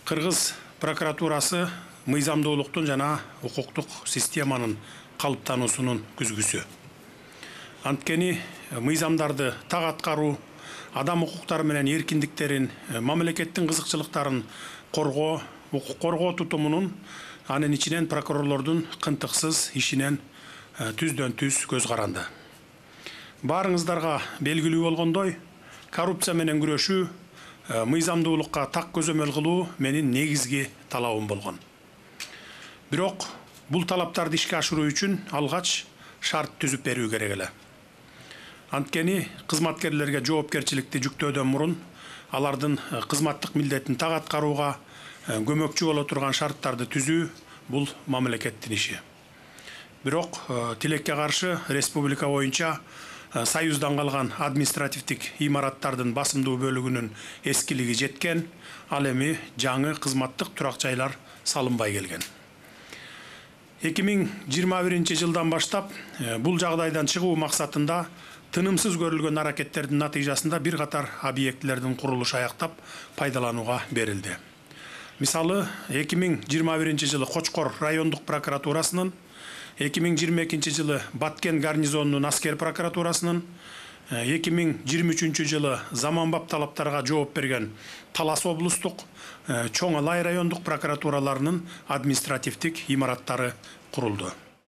Кыргыз прокуратурасы мыйзамдуулуктун жана укуктук системанын калыптануусунун күзгүсү. Анткени мыйзамдарды так аткаруу, адам укуктары менен эркиндиктерин, мамлекеттин кызыкчылыктарын коргоо, укук коргоо тутумунун, анын ичинен прокурорлордун кынтыксыз ишинен түздөн түз көз каранды. Баарыңыздарга белгилүү болгондой, коррупция менен күрөшүү, мыйзамдуулукка так көзөмөл кылуу менин негизги талабым болгон. Бирок бул талаптарды ишке ашыруу үчүн алгач шарт түзүп берүү керек эле. Анткени кызматкерлерге жоопкерчиликти жүктөөдөн мурун алардын кызматтык милдетин так аткарууга көмөкчү боло турган шарттарды түзүү бул мамлекеттин иши. Бирок тилекке каршы республика боюнча Союздан калган административдик имараттардын басымдуу бөлүгүнүн эскилиги жеткен, ал эми жаңы кызматтык турак жайлар салынбай келген. 2021-жылдан баштап бул жагдайдан чыгуу максатында тынымсыз көрүлгөн аракеттердин натыйжасында бир катар объектилердин курулушу аяктап пайдаланууга берилди. Мисалы, 2021-жылы Кочкор райондук прокуратурасынын, 2022-жылы Баткен гарнизонунун аскер прокуратурасынын, 2023-жылы заманбап талаптарга жооп берген Талас облустук, Чоң Алай райондук прокуратураларынын административдик имараттары курулду.